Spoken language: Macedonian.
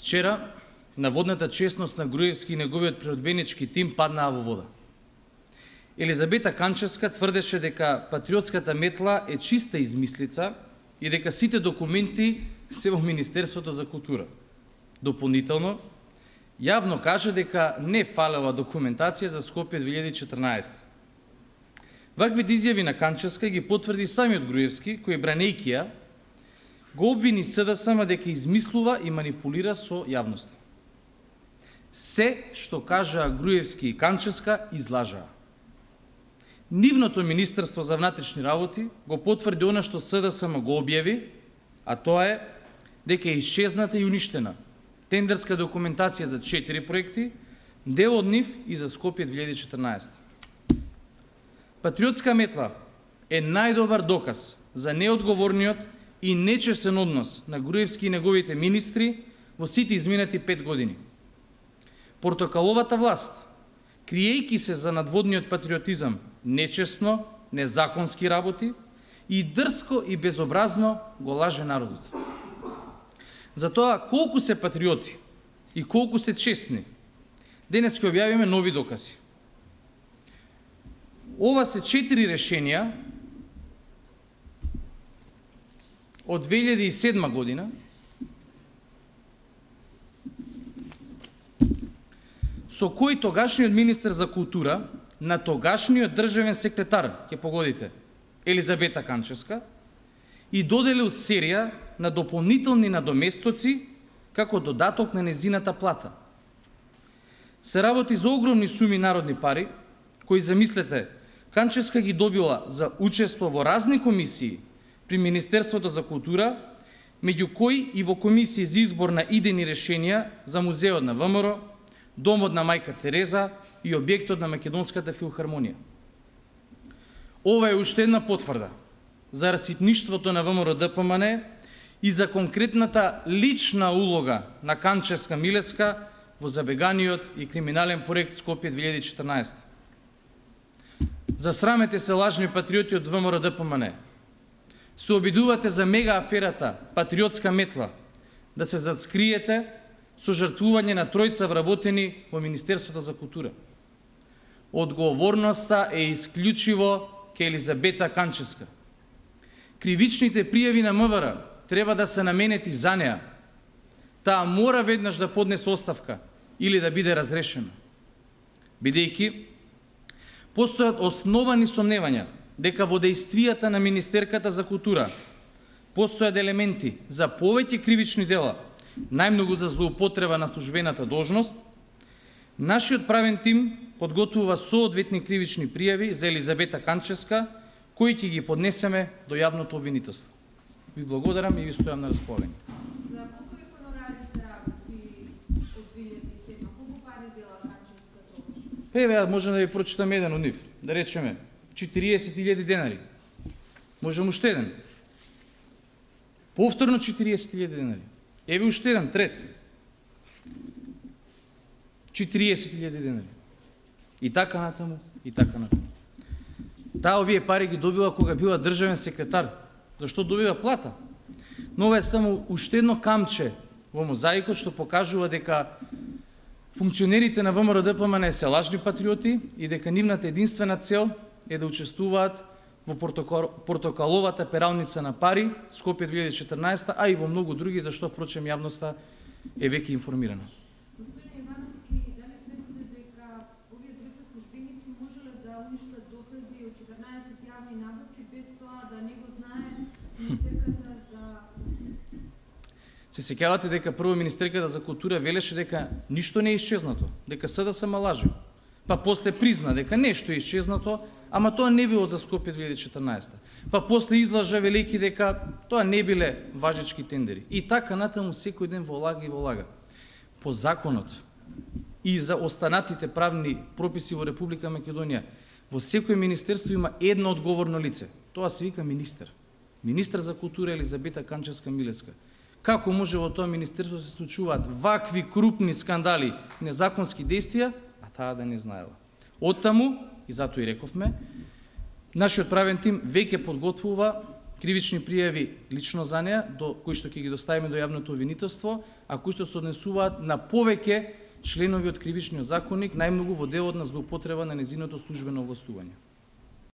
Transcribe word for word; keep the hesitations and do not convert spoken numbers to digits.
Вчера наводната честност на Груевски и неговиот природбенички тим паднаа во вода. Елизабета Канчевска тврдеше дека патриотската метла е чиста измислица и дека сите документи се во Министерството за култура. Дополнително, јавно каже дека не фалела документација за Скопје две илјади и четрнаесета. Вакви изјави на Канчевска ги потврди самиот Груевски, кој бранејќи ја, го обвини СДСМ дека измислува и манипулира со јавноста. Се што кажаа Груевски и Канчевска излажаа. Нивното Министерство за внатрешни работи го потврди она што СДСМ го објави, а тоа е дека е исчезната и уништена тендерска документација за четири проекти, дел од нив и за Скопје две илјади и четрнаесета. Патриотска метла е најдобар доказ за неодговорниот и нечестен однос на Груевски и неговите министри во сите изминати пет години. Портокаловата власт, криејќи се за надводниот патриотизам, нечестно, незаконски работи и дрско и безобразно го лаже народот. За тоа колку се патриоти и колку се честни, денес ќе објавиме нови докази. Ова се четири решенија од две илјади и седма година со кој тогашниот министер за култура на тогашниот државен секретар, ќе погодите, Елизабета Канчевска, и доделил серија на дополнителни надоместоци како додаток на незината плата. Се работи за огромни суми народни пари, кои, замислете, Канчевска ги добила за учество во разни комисии при Министерството за култура, меѓу кои и во комисија за избор на идејни решенија за музеот на ВМРО, домот на мајка Тереза и објектот на Македонската филхармонија. Ова е уште една потврда за раситништвото на ВМРО-ДПМН и за конкретната лична улога на Канчевска Милеска во забеганиот и криминален проект Скопје две илјади и четрнаесета. Засрамете се, лажни патриоти од ВМРО-ДПМН. Се обидувате за мега аферата патриотска метла да се заскриете со жртвување на тројца вработени во Министерството за култура. Одговорноста е исклучиво ке Елизабета Канчевска. Кривичните пријави на МВР треба да се наменети за неа. Таа мора веднаш да поднесе оставка или да биде разрешена. Бидејќи постојат основани сомневања дека во дејствијата на Министерката за култура постојат елементи за повеќе кривични дела, најмногу за злоупотреба на службената должност, нашиот правен тим подготвува соодветни кривични пријави за Елизабета Канчевска, кои ќе ги поднесеме до јавното обвинителство. Ви благодарам и ви стојам на располагање. За колку ви хонорари се работи од две илјади и седма? Колку пари зела Канчевска тогаш? Еве, може да ви прочитам еден од нив. Да речеме, четириесет илјади денари. Можем уште еден. Повторно четириесет илјади денари. Еве уште еден, трет. четириесет илјади денари. И така натаму, и така натаму. Таа овие пари ги добила кога била државен секретар. Зашто добива плата? Но ова е само уште едно камче во мозаикот што покажува дека функционерите на ВМРО-ДПМН се лажни патриоти и дека нивната единствена цел е да учествуваат во портокаловата пералница на пари Скопје две илјади и четрнаесета, а и во многу други, зашто впрочем јавноста е веќе информирана. Господин Ивановски, дали сметате дека овие трица службеници можеле да уништат докази од четрнаесет јавни набавки без тоа да не го знае Министерката за... Се сеќавате дека прво Министерката за култура велеше дека ништо не е исчезнато, дека СДСМ лаже. Па после призна дека нешто е исчезнато, ама тоа не било за Скопје две илјади и четрнаесета. Па после излажа велики дека тоа не биле важечки тендери. И така натаму секој ден во лага и во лага. По законот и за останатите правни прописи во Република Македонија, во секој министерство има едно одговорно лице. Тоа се вика министер. Министер за култура Елизабета Канчевска Милеска. Како може во тоа министерство се случуваат вакви крупни скандали, незаконски действија, а таа да не знаела. Оттаму, и затоа и рековме, нашиот правен тим веќе подготвува кривични пријави лично за неа, до кои што ќе ги доставиме до јавното обвинителство, а кои што се однесуваат на повеќе членови од кривичниот законник, најмногу во делот на злоупотреба на незиното службено овластување.